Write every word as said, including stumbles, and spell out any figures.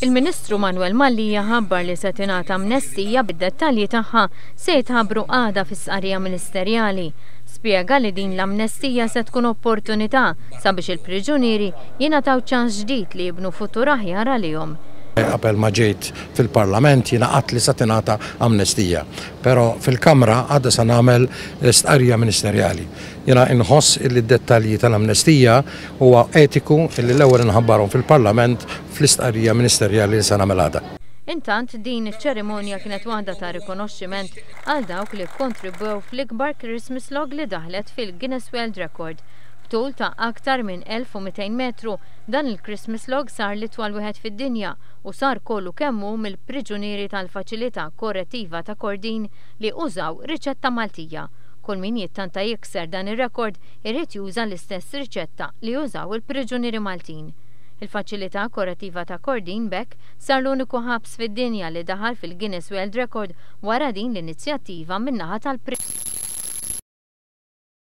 Il-Ministru Manuel Mallia ħabbar li se tingħata amnestija, bid-dettalji tagħha se jitħabbru għada fi stqarrija ministerjali. Spjega li din l-amnestija se tkun opportunità sabiex il-priġunieri jingħataw ċans ġdid li jibnu futur aħjar għalihom. Qabel ma ġejt fil-Parlament jiena għedt li sa tingħata amnestija, però fil-Kamra għada sa nagħmel stqarrija ministerjali. Jiena inħoss li d-dettalji tal-amnestija huwa etiku illi l-ewwel inħabbarhom fil-Parlament fl-istqarrija ministerjali li sa nagħmel għada. Intant, din iċ-ċerimonja kienet waħda ta' rikonoxximent għal dawk li kontribwew fl-ikbar Christmas log li daħlet fil-Guinness World Record. B'tul ta' aktar minn elf u mitejn metru, dan il-Christmas log sar l-itwal wieħed fid-dinja u sar kollu kemm hu mill-priġunieri tal-Faċilità Korrettiva ta' Kordin li użaw riċetta Maltija. Kull min jittanta jikser dan ir-rekord irid juża l-istess riċetta li użaw il-priġunieri Maltin. Il-Faċilità Korrettiva ta' Kordin b'hekk sar l-uniku ħabs fid-dinja li daħal fil-Guinness World Record wara din l-inizjattiva min-naħa tal-priġunieri.